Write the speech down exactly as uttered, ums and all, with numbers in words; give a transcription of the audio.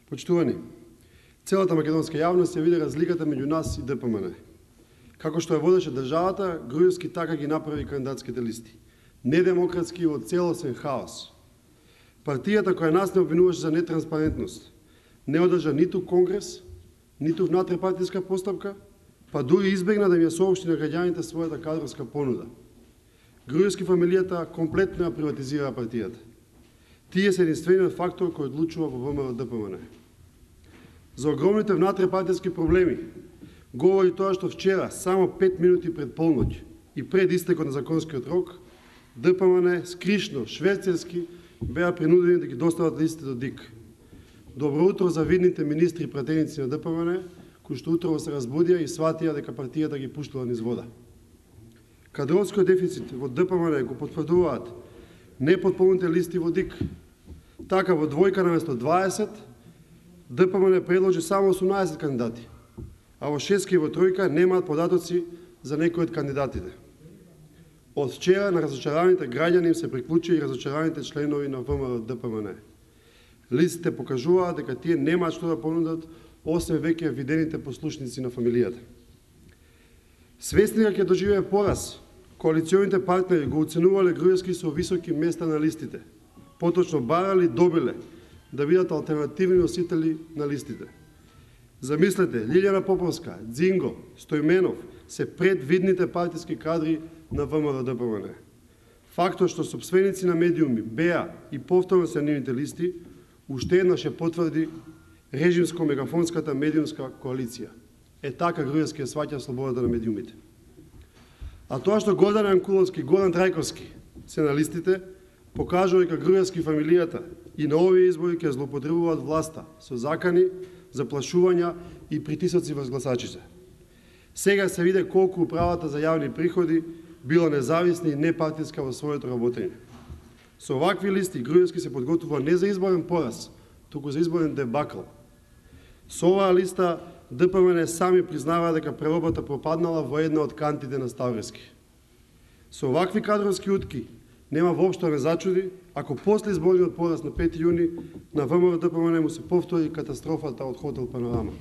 Почитувани, целата македонска јавност ја види разликата меѓу нас и ДПМН. Како што ја водеше државата, Груевски така ги направи кандидатските листи. Недемократски во целосен хаос. Партијата која нас не обвинуваше за нетранспарентност не одржа ниту конгрес, ниту внатрепартиска постапка, па дури избегна да ми ја соопшти на граѓаните својата кадровска понуда. Груевски фамилијата комплетно ја приватизира партијата. Тие се единствениот фактор кој одлучува во ВМРО-ДПМН. За огромните внатрепартиски проблеми говори тоа што вчера, само пет минути пред полноќ и пред истекот на законскиот рок, ДПМН скришно, шверцерски, беа принудени да ги достават листите до ДИК. Добро утро за видните министри и пратеници на ДПМН, кои што утрово се разбудија и сватија дека партијата ги пуштила низ вода. Кадровскиот дефицит во ДПМН го потврдуваат непотполните листи во ДИК. Така во двојка наместо дваесет, ДПМН предложи само осумнаесет кандидати, а во шестка и во тројка немаат податоци за некои од кандидатите. Од вчера на разочараните граѓани им се приклучи и разочараните членови на ВМРО-ДПМН. Листите покажуваат дека тие немаат што да понудат, освен веќе видените послушници на фамилијата. Свесни дека ќе доживее пораз, коалиционите партнери го оценувале Груевски со високи места на листите. Поточно барали, добиле да бидат алтернативни носители на листите. Замислете, Лилјана Поповска, Дзинго, Стојменов се пред видните партиски кадри на ВМРО-ДПМН. Фактот што сопственици на медиуми беа и повторно се нивните листи, уште еднаш ја потврди режимско-мегафонската медиумска коалиција. Е така Груевски ја сваќа слободата на медиумите. А тоа што Гордан Јанкуловски и Горан Трајковски се на листите, покажува дека Груевски фамилијата и на овие избори ќе злоупотребуваат власта со закани, заплашувања и притисоци врз гласачите. Сега се виде колку управата за јавни приходи било независна и непартиска во своето работење. Со овакви листи Груевски се подготвува не за изборен пораз, туку за изборен дебакл. Со оваа листа ДПМН сами признава дека преробата пропаднала во една од кантите на Ставрески. Со овакви кадровски утки нема воопшто не зачуди ако после изборниот пораз на пети јуни на ВМРО-ДПМН му се повтори катастрофата од хотел Панорама.